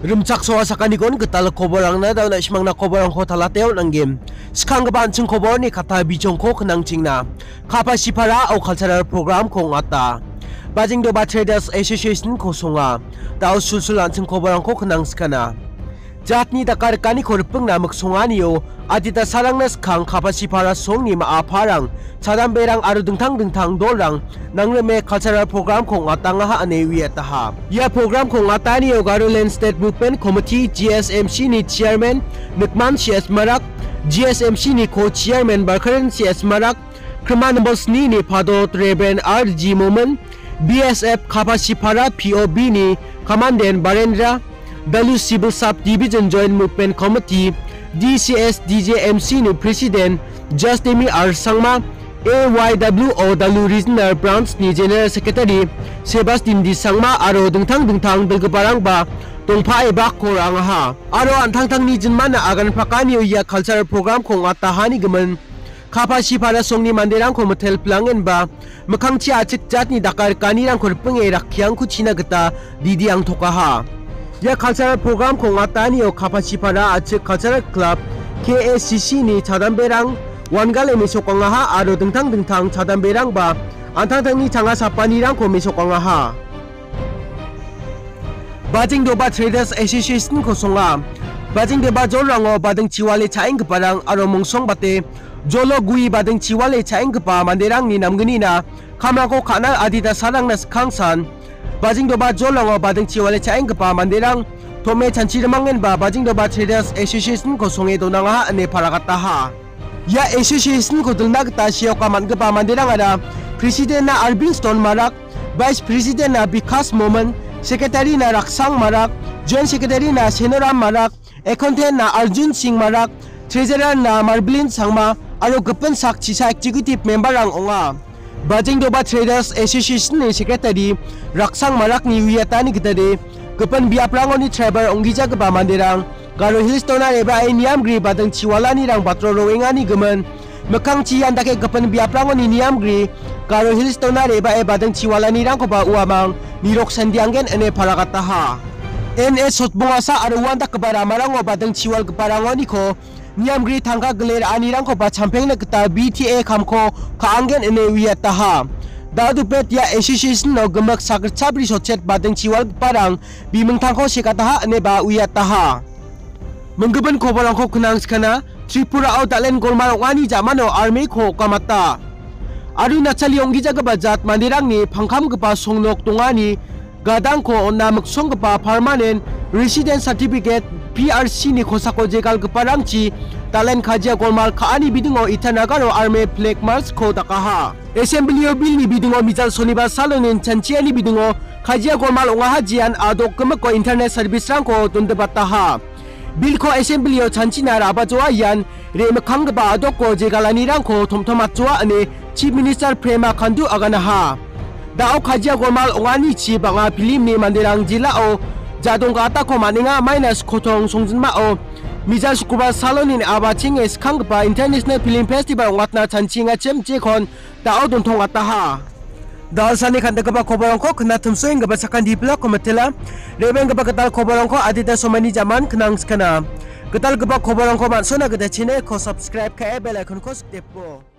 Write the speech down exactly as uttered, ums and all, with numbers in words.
Rimchaksoa sakanikon gital koborangna dauna simangna koborangko talateo nanggen. Skanggipa an·ching koborni kata bijongko knangchingna. Kapasipara o cultural program-ko ong·ata. Bajingdoba Traders Association-ko songa. Dao sulsul an·ching koborangko knangskana. Jatni dakarikani koripingna miksonganio adita sarangna skang Kapasipara songni ma·a parang, chadamberang aro dingtang dingtang dolrang nangrime cultural program-ko ong·atangaha ine uiataha. Ia program-ko ong·atanio Garoland State Movement Committee, G S M C-ni chairman Nikman C S Marak, G S M C-ni co-chairman Barkaren C S Marak, Krima nombor snini Padot Reverend R G Momin, B S F Kapasipara P O B-ni Commandant Barendra, Dalu Civil Sub Division Joint Movement Committee, D C S D J M C-ni President Justemi R Sangma, A Y W O Dalu Regional Branch-ni General Secretary Sebastian D Sangma aro dingtang dingtang dilgiparangba dongpaeba ko ra·angaha. Aro an·tangtangni jinmana agan pakanio ia cultural program-ko ong·atahani gimin Kapasipara songni manderangko mitel pilangenba, mikkangchi achik jatni dakarikanirangko ripinge rakkiangko china gita didi angtokaha. Ia cultural program-ko ong·atanio Kapasipara achik cultural club, K A C C-ni chadamberang wangale mesokangaha aro dingtang dingtang chadamberangba an·tangtangni changa sapanirangko mesokangaha. Bajingdoba Traders Association-ko songa. Bajingdoba jolrango bading chiwale cha·enggiparang aro mongsongbate jolo gue bading chiwale cha·enggipa manderangni namgnina kamrangko ka·na adita sarangna skangsan. Bajingdoba jolrango bading chiwale cha·enggipa manderang tom·e chanchi rimangenba Bajingdoba Traders Association-ko songe donangaha ine paragataha. Ia association-ko dilna gita seoka man·gipa manderangara President-na Arvind Stone Marak, Vice President-na Bikas Momin, Secretary-na Raksang Marak, Joint Secretary-na Senoram Marak, Accountant-na Arjun Singh Marak, Treasurer-na Marbilin Sangma aro gipin sak chisa executive member-rang ong·a. Bajingdoba Traders Association-ni Secretary Raksang Marakni uiatani gitade, gipin biaprangoni tribal ong·gijagipa manderang, Garo Hills-ona re·bae niamgri bading chiwalanirang batro roengani gimin, mikkangchi ian dake gipin biaprangoni niamgri, Garo Hills-ona re·bae bading chiwalanirangkoba uamang nirok sandianggen ine paragataha. N S Sotbongasa aro uandakgipa ramarango bading chiwalgiparangoniko niamgri tangka gile ra·anirangkoba champengna gita B T A kamko ka·anggen ine uiataha. Dadupet ia association-o gimik sakgitchabri sotchet bading chiwalgiparang bimingtangko sekataha ineba uiataha. Minggimin koborangko knangskana, Tripura-o dal·en golmal ong·ani jamano army-ko okamata. Arunachali ong·gijagipa jat manderangni pangkamgipa songnok dongani gadangko on·na miksonggipa permanent resident certificate, P R C-ni kosako jegalgiparangchi dal·en kajia golmal ka·ani bidingo Itanagar-o army flag march-ko dakaha. Assembly-o bill-ni bidingo mijal sonibar salonin chanchiani bidingo kajia golmal ong·aha jean adok gimikko internet service-rangko dondibataha. Bill-ko Assembly-o chanchina ra·bajoa ian re·mikkanggipa adokko jegalanirangko tomtomatjoa ine Chief Minister Pema Khandu aganaha. Da·o kajia golmal ong·anichi bang·a film-ni manderang jilao jadong ga·atako man·enga, maina skotong songjinmao mijal sukubar salonin abachenge skanggipa International Film Festival ong·atna chanchingachim jekon da·o dontongataha. Dalsani kan·dakgipa koborongko knatimsoenggipa sakanti bilakko mitela. Rebenggipa gital koborongko adita somaini jaman knangskana. Gitalgipa koborongko man·sona gita channel-ko subscribe ka·e bell icon-ko sikdepo.